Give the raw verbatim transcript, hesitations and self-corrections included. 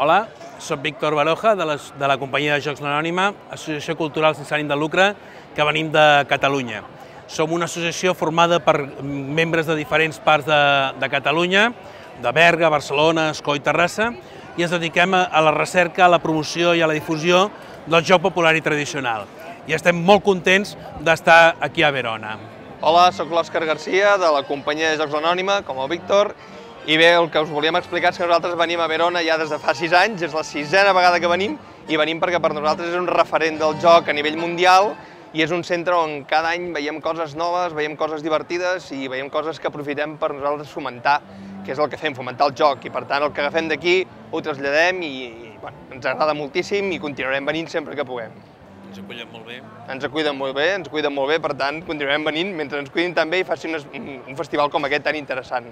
Hola, soc Víctor Baroja, de, les, de la companyia de Jocs l'Anònima, associació cultural sense ànim de lucre, que venim de Catalunya. Som una associació formada per membres de diferents parts de, de Catalunya, de Berga, Barcelona, Escó i Terrassa, i ens dediquem a, a la recerca, a la promoció i a la difusió del joc popular i tradicional. I estem molt contents d'estar aquí a Verona. Hola, soc l'Òscar Garcia, de la companyia de Jocs l'Anònima, com el Víctor, i bé, el que us volíem explicar és que nosaltres venim a Verona ja des de fa sis anys, és la sisena vegada que venim, i venim perquè per nosaltres és un referent del joc a nivell mundial i és un centre on cada any veiem coses noves, veiem coses divertides i veiem coses que aprofitem per nosaltres fomentar, que és el que fem, fomentar el joc, i per tant el que agafem d'aquí ho traslladem i, i bueno, ens agrada moltíssim i continuarem venint sempre que puguem. Ens acullen molt bé. Ens acuiden molt bé, ens cuiden molt bé, per tant continuarem venint mentre ens cuidin també i facin un festival com aquest tan interessant.